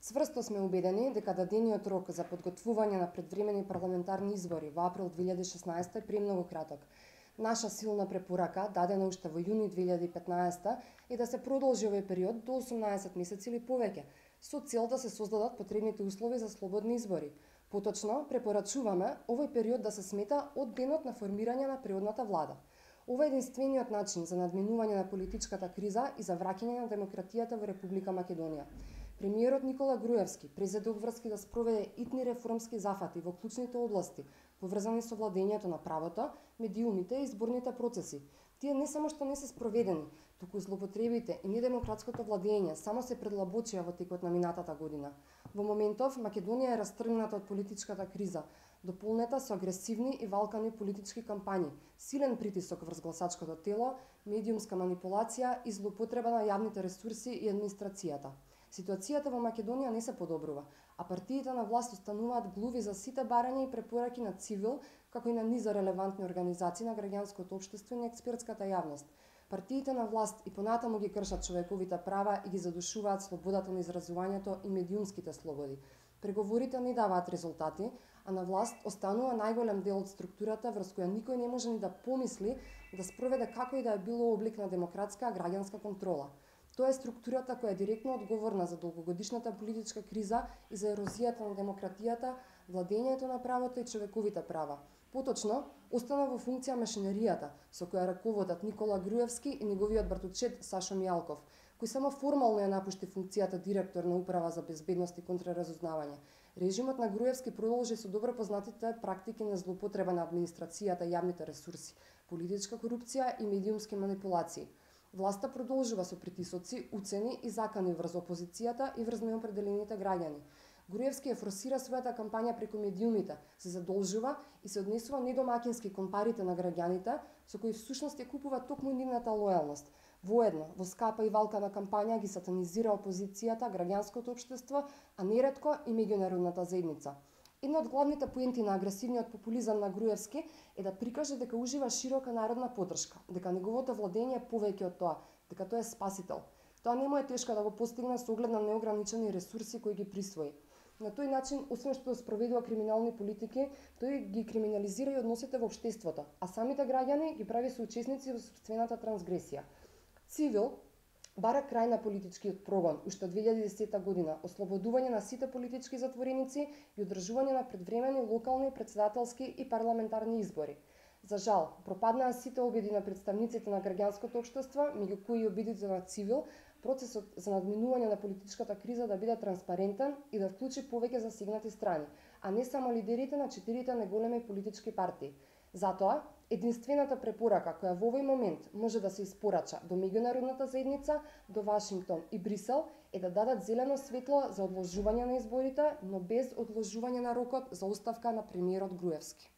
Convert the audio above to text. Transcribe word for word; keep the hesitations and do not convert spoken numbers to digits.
Цврсто сме убедени дека дадениот рок за подготвување на предвремени парламентарни избори во април две илјади и шеснаесета е премногу краток. Наша силна препорака, дадена уште во јуни две илјади и петнаесета, е да се продолжи овој период до осумнаесет месеци или повеќе, со цел да се создадат потребните услови за слободни избори. Поточно, препорачуваме овој период да се смета од денот на формирање на природната влада. Ова е единствениот начин за надминување на политичката криза и за враќање на демократијата во Република Македонија. Премиерот Никола Груевски презеде обврски да спроведе итни реформски зафати во клучните области, поврзани со владењето на правото, медиумите и изборните процеси. Тие не само што не се спроведени, туку злоупотребите и недемократското владење само се предлабочија во текот на минатата година. Во моментов Македонија е растргната од политичката криза, дополнета со агресивни и валкани политички кампањи, силен притисок врз гласачкото тело, медиумска манипулација и злоупотреба на јавните ресурси и администрацијата. Ситуацијата во Македонија не се подобрува, а партиите на власт остануваат глуви за сите барања и препораки на цивил, како и на низа релевантни организации на граѓанското општество и на експертската јавност. Партиите на власт и понатаму ги кршат човековите права и ги задушуваат слободата на изразувањето и медиумските слободи. Преговорите не даваат резултати, а на власт останува најголем дел од структурата врз која никој не може ни да помисли да спроведе како и да е било облик на демократска граѓанска контрола. Тоа е структурата која е директно одговорна за долгогодишната политичка криза и за ерозијата на демократијата, владењето на правото и човековите права. Поточно, остана во функција машинеријата, со која раководат Никола Груевски и неговиот братучет Сашо Мијалков, кој само формално ја напушти функцијата директор на Управа за безбедност и контраразузнавање. Режимот на Груевски продолжи со добро познатите практики на злоупотреба на администрацијата и јавните ресурси, политичка корупција и медиумски манипулации. Власта продолжува со притисоци, уцени и закани врз опозицијата и врз неопределените граѓани. Груевски ја форсира својата кампања преку медиумите, се задолжува и се однесува недомакински кон парите на граѓаните, со кои всушност ја купува токму нивната лојалност. Воедно, во скапа и валкана кампања ги сатанизира опозицијата, граѓанското општество, а неретко и меѓународната заедница. Една од главните поенти на агресивниот популизам на Груевски е да прикаже дека ужива широка народна поддршка, дека неговото владење е повеќе од тоа, дека тој е спасител. Тоа не му е тешко да го постигне со оглед на неограничени ресурси кои ги присвои. На тој начин, освен што спроведува криминални политики, тој ги криминализира и односите во општеството, а самите граѓани ги прави соучесници во сопствената трансгресија. Цивил бара крај на политичкиот прогон уште од две илјади и десета година, ослободување на сите политички затвореници и одржување на предвремени локални, претседателски и парламентарни избори. За жал, пропаднаа сите обиди на представниците на граѓанското општество, меѓу кои и обидите на Цивил, процесот за надминување на политичката криза да биде транспарентен и да вклучи повеќе засегнати страни, а не само лидерите на четирите најголеми политички партии. Затоа, единствената препорака која во овој момент може да се испорача до меѓународната заедница, до Вашингтон и Брисел е да дадат зелено светло за одложување на изборите, но без одложување на рокот за оставка на премиерот Груевски.